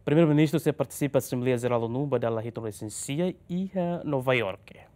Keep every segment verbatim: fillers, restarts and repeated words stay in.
Primeiru-Ministru sei partisipa Asembleia Jerál ONU ba dala hitunulu-resin-sia iha Nova Iorke.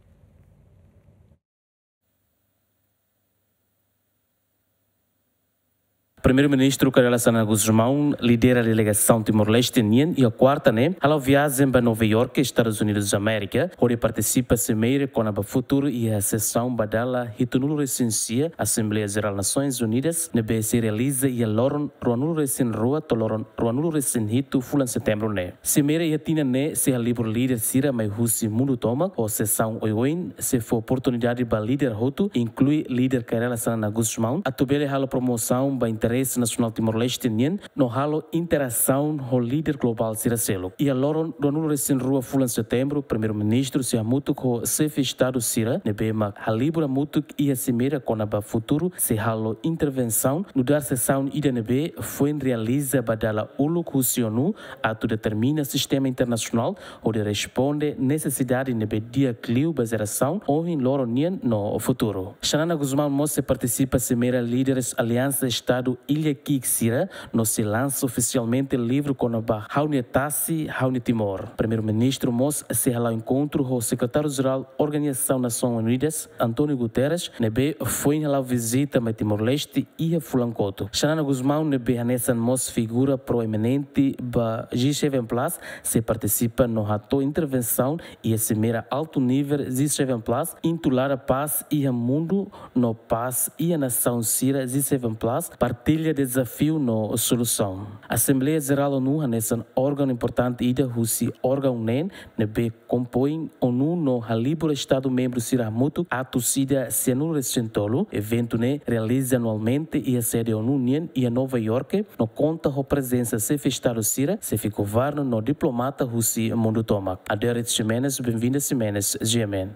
Primeiru-Ministru Kay Rala Xanana Gusmão lidera delegasaun Timor-Leste nian iha kuarta ne'e hala'o viajen ba Nova Iorke, Estadus Unidus Amérika, hodi partisipa simeira kona-ba futuru iha sesaun ba dala hitunulu-resin-sia Asembleia Jerál Nasoins Unidas ne'ebé sei realiza iha loron ruanulu-resin-rua to'o loron ruanulu-resin-hitu fulan Setembru ne'e. Simeira iha tinan ne'e sei halibur líder sira mai husi mundu tomak, ho sesaun oioin sei fó oportunidade ba líder hotu, inklui líder Kay Rala Xanana Gusmão, atu bele halo promosaun ba interese nasionál Timor-Leste nian no halo interasaun ho líder globál sira seluk. Iha loron ruanulu-resin-rua fulan Setembru, Primeiru-Ministru sei hamutuk ho xefe Estadu sira ne'ebé mak halibur hamutuk iha simeira kona-ba futuru sei halo intervensaun, nu'udar sesaun ida ne'ebé foin realiza ba dala uluk husi ONU atu determina sistema internasionál hodi responde nesesidade ne'ebé di'ak liu ba jerasaun ohin, loron nian no futuru. Xanana Gusmão mós sei partisipa simeira líderes Aliansa Estadu Illa Ki'ik sira no sei lansa ofisialmente livru kona-ba Ha'u-nia Tasi, Ha'u-nia Timor. Primeiru-Ministru mós sei hala'o enkontru ho Sekretáriu-Jerál Organizasaun Nasoins Unidas, António Guterres, ne'ebé foin hala'o vizita mai Timor-Leste iha fulan kotuk. Xanana Gusmão ne'ebé hanesan mós figura proeminente ba G seven plus sei partisipa no hato'o intervensaun iha simeira altu nivel G seven plus, intitulada Pás iha Mundu no Pás iha Nasaun Sira G seven plus, partilla dezafiu no solusaun. Asembleia Jerál ONU hanesan órgaun importante ida husi órgaun neen ne'ebé kompoin ONU no halibur Estadu membru sira hamutuk atus ida sianulu-resin-tolu. Eventu ne'e realiza anualmente iha sede ONU nian iha Nova Iorke no konta ho prezensa xefe Estadu sira, xefe governu no diplomata husi mundu tomak. Aderet Ximenes, Benvinda Ximenes, G M N.